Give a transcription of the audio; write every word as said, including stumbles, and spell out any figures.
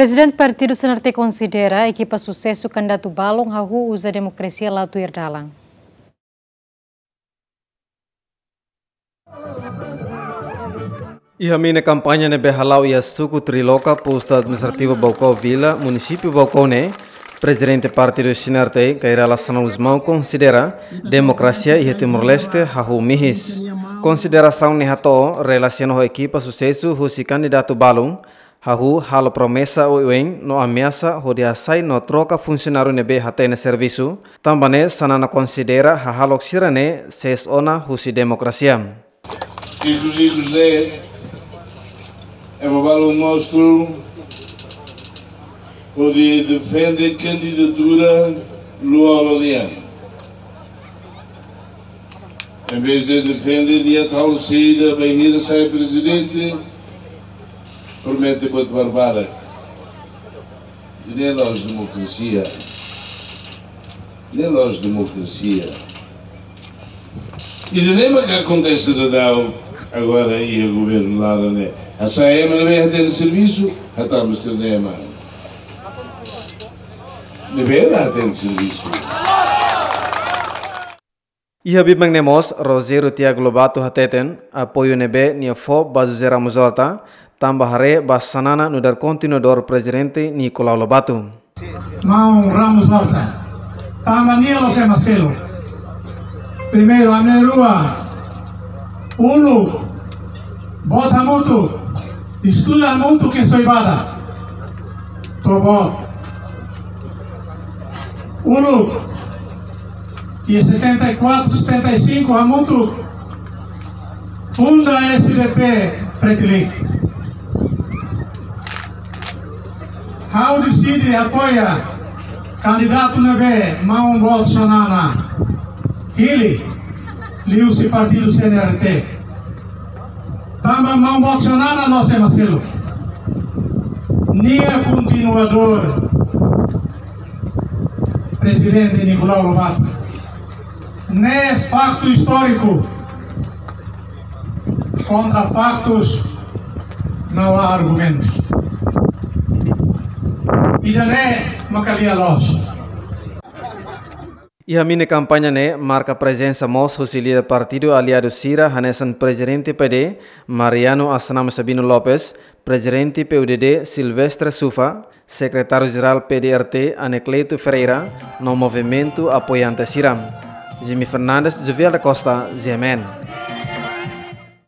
Prezidente Partidu C N R T konsidera ekipa susesu kandidatu balun hahú uza demokrasia la tuir dalan. Iha mina kampaña ne'ebé hala'o iha suku Triloka, postu administrativu Baucau Vila, munisípiu Baucau ne'e, Prezidente Partidu C N R T, Kay Rala Xanana Gusmão, konsidera demokrasia iha Timor-Leste hahú mihis. Konsiderasaun ne'e hato'o relasiona ho ekipa susesu husi kandidatu balun, hahú halo promesa oioin no ameasa hodi hasai no troka funsionáriu ne'ebé hatene servisu, tanba ne'e Xanana konsidera hahalok sira-ne'e sees ona husi demokrasia. Ikus-ikus ne'e, ema balun mós hodi defende kandidatura Lú Olo nian. Em vez de defende nia tau saida bainhira sai prezidente, promete buat barbarak. Ne'e la'ós demokrasia. Ne'e la'ós demokrasia. I ne'e mak akontese daudaun agora iha governu laran ne'e. Hasai ema ne'ebé hatene servisu, hatama sira-ne'e ema ne'ebé la hatene servisu. Iha biban ne'e mós, Rogério Tiago Lobato hateten, apoiu ne'ebé nia fó ba José Ramos Horta, tanba haree ba Xanana nu'udar kontinuadór Prezidente Nicolau Lobato. Maun Ramos Horta, tanba nia la'ós ema seluk. Primeiru, ami na'in-rua, uluk, boot hamutuk, estuda hamutuk iha Soibada. To'o boot. Uluk, iha setenta e quatro, setenta e cinco, hamutuk funda S D P Fretilin. Ha'u deside apoia kandidatu ne'ebé maun boot Xanana hili, liuhusi partidu C N R T. Tanba maun boot Xanana la'ós ema seluk. Nia kontinuadór Prezidente Nicolau Lobato. Ne'e faktu istóriku. Kontra faktus, não há argumentus. Ida-ne'e mak lia loos. Iha mina kampaña ne'e, marka prezensa mós husi líder partidu aliadu sira, hanesan Prezidente P D, Mariano Asnam Sabino Lopes, Prezidente P U D D, Silvestre Sufa, Sekretáriu Jerál P D R T, Anacleto Ferreira, no movimentu apoiante sira. Jimmy Fernandes, Jovial da Costa, G M N.